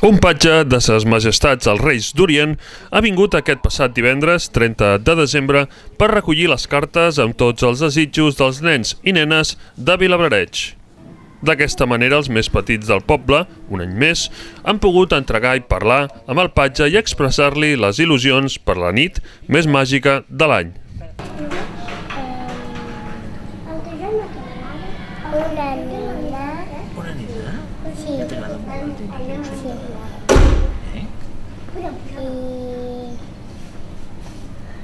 Un patge de ses majestats els Reis d'Orient ha vingut aquest passat divendres, 30 de desembre, per recollir les cartes amb tots els desitjos dels nens i nenes de Vilablareix. D'aquesta manera, els més petits del poble, un any més, han pogut entregar i parlar amb el patge i expressar-li les il·lusions per la nit més màgica de l'any. Una nina? Sí. Que t'agrada molt? Sí.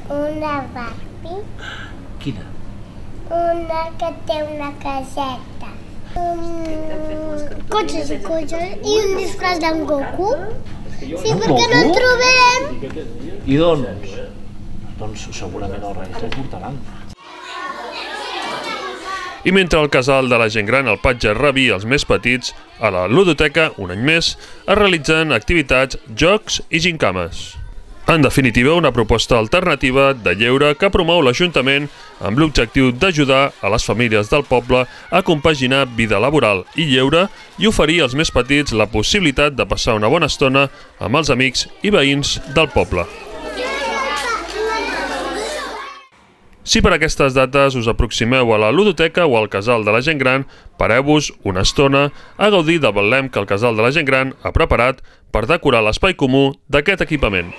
Una Barbie. Quina? Una que té una caseta. Cotxes i cotxes. I un disfraç d'en Goku. Sí, perquè no en trobem. I doncs segurament els Reis te'l portaran. I mentre el casal de la gent gran, el patge, rebia els més petits, a la ludoteca, un any més, es realitzen activitats, jocs i gincames. En definitiva, una proposta alternativa de lleure que promou l'Ajuntament amb l'objectiu d'ajudar a les famílies del poble a compaginar vida laboral i lleure i oferir als més petits la possibilitat de passar una bona estona amb els amics i veïns del poble. Si per aquestes dates us aproximeu a la ludoteca o al casal de la gent gran, pareu-vos una estona a gaudir del betlem que el casal de la gent gran ha preparat per decorar l'espai comú d'aquest equipament.